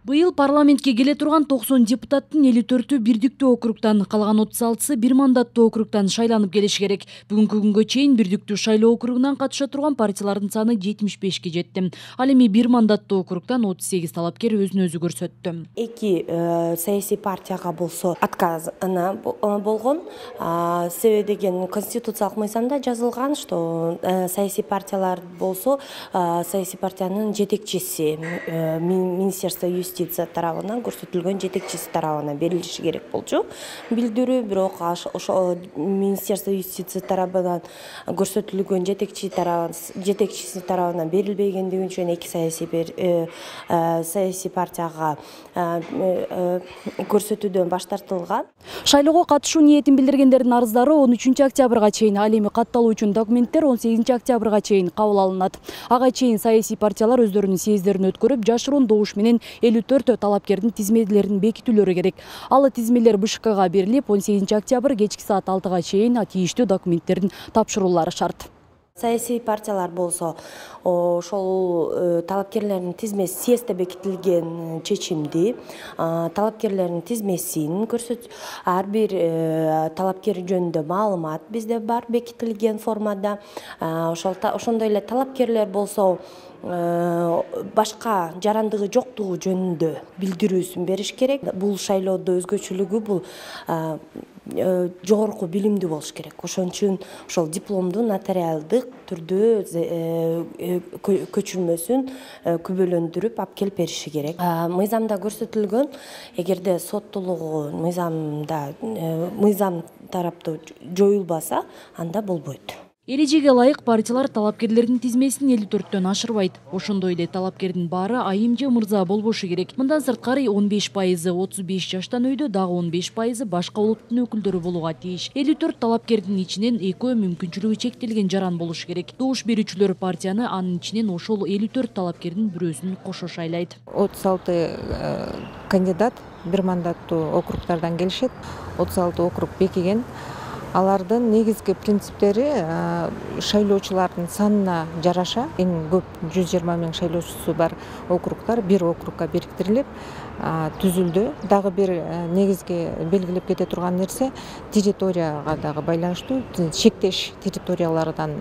Быйыл парламентке келе турган 90 депутаттын 54-ү бирдиктүү округтан, калган 36-сы бир мандаттуу округтан шайланып келиши керек. Бүгүнкү күнгө чейин бирдиктүү шайлоо округунан катыша турган партиялардын саны 75ке жетти. Ал эми бир мандаттуу округтан 38 талапкер өзүн өзү көрсөттү. Эки саясий партияга болсо отказына болгон. Себеби деген конституциялык мыйзамда жазылган, что саясий партиялар болсо саясий партиянын жетекчиси Министерство юстиция тарабынан көрсөтүлгөн жетекчиси тарабынан берилиши керек болчу билдирүү. Бирок ошо Министерство юстиция тарабынан көрсөтүлгөн жетекчиси тарабынан берилбегендиги үчүн эки саясий партияга көрсөтүүдөн баш тартылган. Шайлоого катышуу ниетин билдиргендердин арыздары 13 октябрга чейин, ал эми катталуу үчүн документтер 18 октябрга чейин кабыл алынат. Ага чейин саясий партиялар өздөрүнүн съезддерин өткөрүп, жашыруун добуш менен 54 талапкердин тизмелерин бекитүүлөрү керек. Ал тизмелер БШКга берилип, 18 октябрь кечки саат 6га чейин тийиштүү документтерин тапшыруулары шарт. Саясий партиялар болсо ошол талапкерлердин тизмеси съездде бекитилген чечимди, талапкерлердин тизмесин көрсөт, ар бир талапкер жөнүндө маалымат бизде бар бекитилген формада. Ошондой эле талапкерлер болсо башка жарандыгы жоктугу жөнүндө билдирүүсүн бериш керек. Бул шайлоодо өзгөчөлүгү бул жогорку билимдүү болуш керек. Ошон үчүн ошол дипломду нотариалдык түрдө көчүрмөсүн күбөлөндүрүп алып келип бериши керек. Мыйзамда көрсөтүлгөн, эгерде соттуулугу мыйзам тараптуу жоюлбаса, анда болбойт. Эрежеге ылайык партиялар талапкерлердин тизмесин 54төн ашырбайт. Ошондой эле талапкердин баары айым же мырза болбошу керек. Мындан сырткары 15% 35 жаштан өйдө, дагы 15% башка улуттун өкүлдөрү болууга тийиш. 54 талапкердин ичинен 2 мүмкүнчүлүгү чектелген жаран болушу керек. Добуш берүүчүлөр партияны анын ичинен ошол 54 талапкердин бирөөсүн кошо шайлайт. 36 кандидат бир мандаттуу округтардан келишет. 36 округ бекиген. Алардын негизги принциптери шайлоочулардын санына жараша, эң көп 120 000 шайлоочусу бар округтар бир округга бириктирилип түзүлдү. Дагы бир негизги белгилеп кете турган нерсе территорияга дагы байланыштуу. Чектеш территориялардан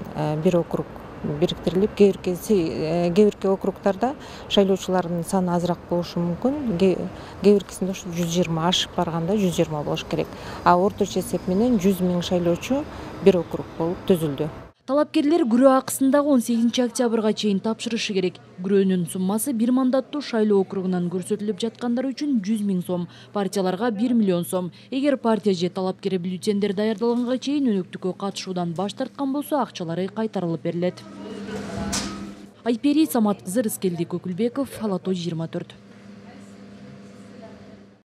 бир округ бириктирилип, кээ бирки округтарда шайлоочулардын саны азыраак болушу мүмкүн. Кээ биркисинде 120 ашып барганда 120 болуш керек. Орточо эсеп менен 100 000 шайлоочу бир округ болуп түзүлдү. Талапкерлер күрөө акысын дагы 18 октябрга чейин тапшырышы керек. Күрөөнүн суммасы бир мандаттуу шайлоо округунан көрсөтүлүп жаткандар үчүн 100 000 сом, партияларга 1 миллион сом. Эгер партия же талапкер бюллетендер даярдалганга чейин өнөктүккө катышуудан баш тарткан болсо, акчалары кайтарылып берилет. Айпери Самат кызы, Рыскелди Көкүлбеков, Ала Той 24.